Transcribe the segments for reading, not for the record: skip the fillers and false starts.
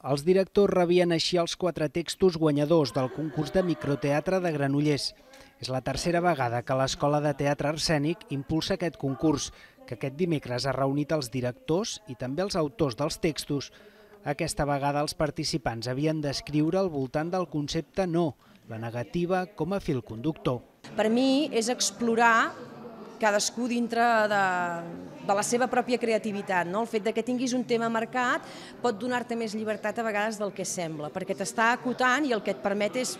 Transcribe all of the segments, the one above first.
Els directors rebien així els 4 textos guanyadors del concurs de microteatre de Granollers. És la tercera vegada que l'Escola de Teatre Escènic impulsa aquest concurs, que aquest dimecres ha reunit els directors i també els autors dels textos. Aquesta vegada els participants havien d'escriure al voltant del concepte no, la negativa com a fil conductor. Per mi és explorar cadascú dintre de la seva pròpia creativitat. El fet que tinguis un tema marcat pot donar-te més llibertat a vegades del que sembla, perquè t'està acotant i el que et permet és,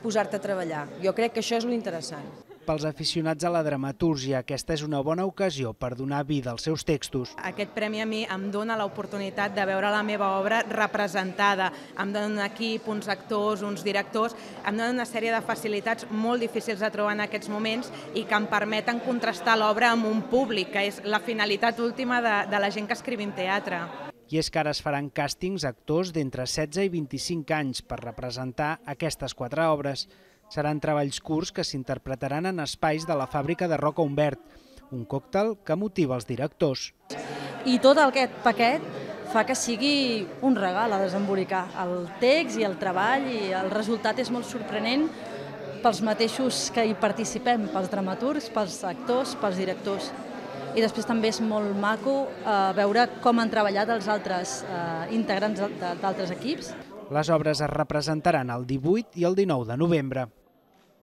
posar-te a treballar. Jo crec que això és l'interessant. Pels aficionats a la dramatúrgia, aquesta és una bona ocasió per donar vida als seus textos. Aquest premi a mi em dona l'oportunitat de veure la meva obra representada. Em dona un equip, uns actors, uns directors, em dona una sèrie de facilitats molt difícils de trobar en aquests moments i que em permeten contrastar l'obra amb un públic, que és la finalitat última de la gent que escrivim teatre. I és que ara es faran càstings actors d'entre 16 i 25 anys per representar aquestes 4 obres. Seran treballs curts que s'interpretaran en espais de la fàbrica de Roca Humbert, un còctel que motiva els directors. I tot aquest paquet fa que sigui un regal a desembolicar. El text i el treball i el resultat és molt sorprenent pels mateixos que hi participem, pels dramaturgs, pels actors, pels directors. I després també és molt maco veure com han treballat els altres integrants d'altres equips. Les obres es representaran el 18 i el 19 de novembre.